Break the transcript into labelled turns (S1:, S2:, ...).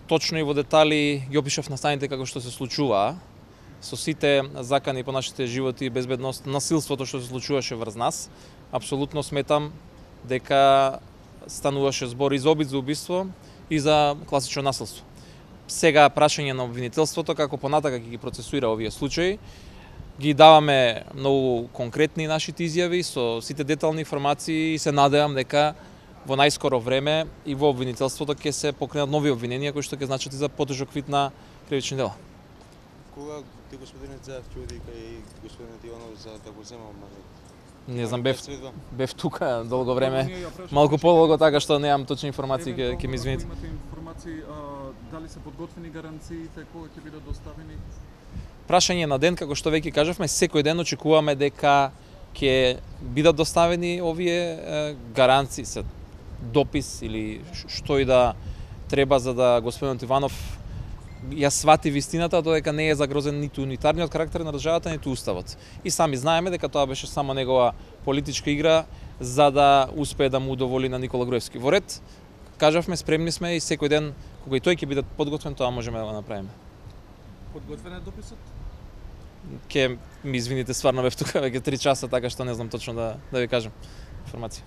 S1: точно и во детали ги опишав настаните како што се случува, со сите закани по нашите животи, безбедност, насилството што се случуваше врз нас. Апсолутно сметам дека стануваше збор и за обид за убиство и за класично насилство. Сега прашање на обвинителството како понатака ќе ги процесуира овие случаи. Ги даваме многу конкретни нашите изјави со сите детални информации и се надевам дека во најскоро време и во обвинителството ќе се покренат нови обвиненија кои што ќе значат и за потежок вид на кривични дела.
S2: Кога ти господинот Заев ќе оди кај господинот Иванов за да го земам?
S1: Не знам, бев тука долго време, малку подолго, така што немам точни информации, ќе ми извините.
S3: Имате информации, дали се подготвени гаранциите, кога ќе бидат доставени?
S1: Прашање на ден, како што веќе кажавме, секој ден очекуваме дека ќе бидат доставени овие гаранции, се допис или што и да треба за да господинот Иванов ја свати вистината, додека не е загрозен ниту унитарниот карактер на државата, ниту уставот. И сами знаеме дека тоа беше само негова политичка игра за да успее да му удоволи на Никола Груевски. Во ред, кажавме, спремни сме и секој ден кога и тој ќе биде подготвен, тоа можеме да го направиме.
S3: Подготвен е дописот?
S1: Ке ми извините, стварно бев тука веќе 3 часа, така што не знам точно да ви кажам информација.